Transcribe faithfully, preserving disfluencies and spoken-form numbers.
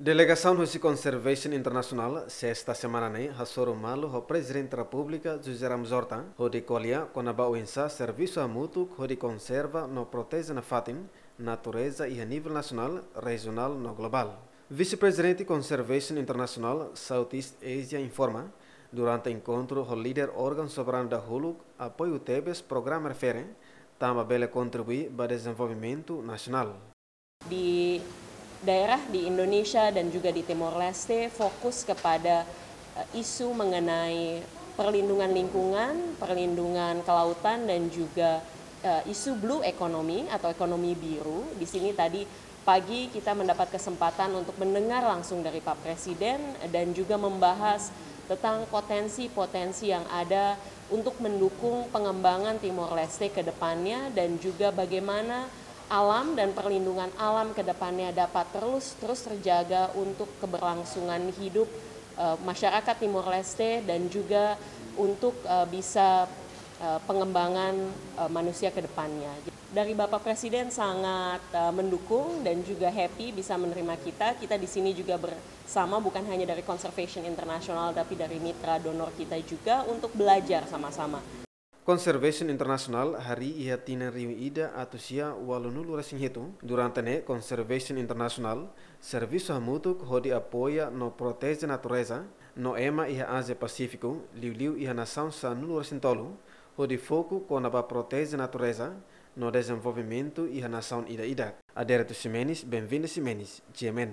Delegasaun husi Conservation International sesta semana ne'e hasoru malu ho Prezidente Repúblika José Ramos Horta hodi ko'alia kona-ba oinsá servisu hamutuk hodi konserva no proteje nafatin natureza iha nivel nasionál, rejionál no globál. Vise-Prezidente Conservation International Southeast Asia informa, durante enkontru ho líder órgaun soberanu dahuluk apoiu tebes programa refere, tanba bele kontribui ba dezenvolvimentu nasionál. Di daerah di Indonesia dan juga di Timor Leste fokus kepada eh, isu mengenai perlindungan lingkungan, perlindungan kelautan dan juga eh, isu blue economy atau ekonomi biru. Di sini tadi pagi kita mendapat kesempatan untuk mendengar langsung dari Pak Presiden dan juga membahas tentang potensi-potensi yang ada untuk mendukung pengembangan Timor Leste ke depannya dan juga bagaimana alam dan perlindungan alam ke depannya dapat terus terus terjaga untuk keberlangsungan hidup eh, masyarakat Timor Leste dan juga untuk eh, bisa eh, pengembangan eh, manusia ke depannya. Dari Bapak Presiden sangat eh, mendukung dan juga happy bisa menerima kita. Kita di sini juga bersama bukan hanya dari Conservation International tapi dari mitra donor kita juga untuk belajar sama-sama. Conservation International harii iha tinan rihun ida atus sia ualunulu resin hitu. Durante ne'e Conservation International servisu hamutuk hodi apoia no proteje natureza no ema iha Ázia Pasífiku, liuliu iha nasaun sanulu resin tolu, hodi foku kona-ba proteje natureza no dezenvolvimentu iha nasaun ida-idak. Adérito Ximenes, Benvinda Ximenes, G M N.